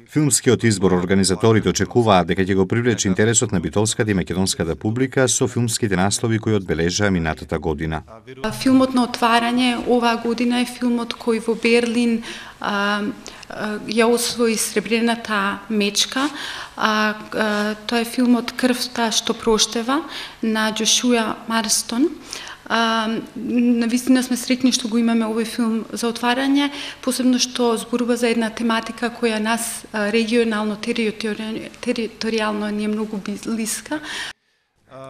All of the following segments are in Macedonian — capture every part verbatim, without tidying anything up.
Филмскиот избор организаторите очекуваат дека ќе го привлече интересот на битолската и македонската публика со филмските наслови кои одбележаа минатата година. Филмот на отварање оваа година е филмот кој во Берлин а, а, ја освои сребрената мечка. А, а, тоа е филмот Крвта што проштева на Джошуа Марстон. А, навистина сме среќни што го имаме овој филм за отварање, посебно што зборува за една тематика која нас регионално, територијално ни е многу блиска.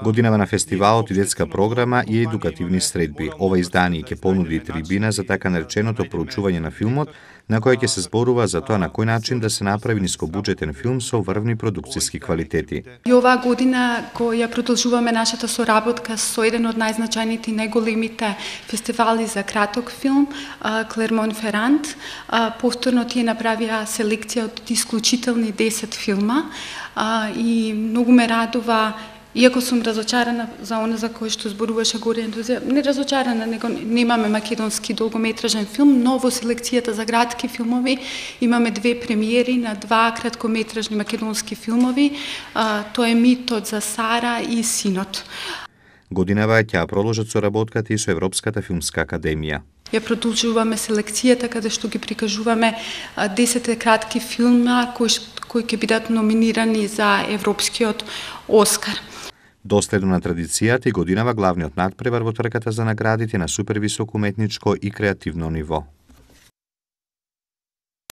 Годинава на фестивалот и детска програма и едукативни средби. Ова издание ќе понуди трибина за така нареченото проучување на филмот, на кој ќе се зборува за тоа на кој начин да се направи нискобуџетен филм со врвни продукциски квалитети. И оваа година која продолжуваме нашата соработка со еден од најзначајните и најголемите фестивали за краток филм, Клермон-Ферант. Повторно тие направија селекција од исклучителни десет филма и многу ме радува. Иако сум разочарана за она за кој што зборуваше горе ентузија, не разочарана, него немаме македонски долгометражен филм, но во селекцијата за градски филмови имаме две премиери на два краткометражни македонски филмови. А, тоа е Митот за Сара и Синот. Годинава ќе продолжат соработката и со Европската филмска академија. Ја продолжуваме селекцијата каде што ги прикажуваме десет кратки филма кои кои ќе бидат номинирани за Европскиот Оскар. Доследно на традицијата и годинава главниот натпревар во трката за наградите на супервисоко уметничко и креативно ниво.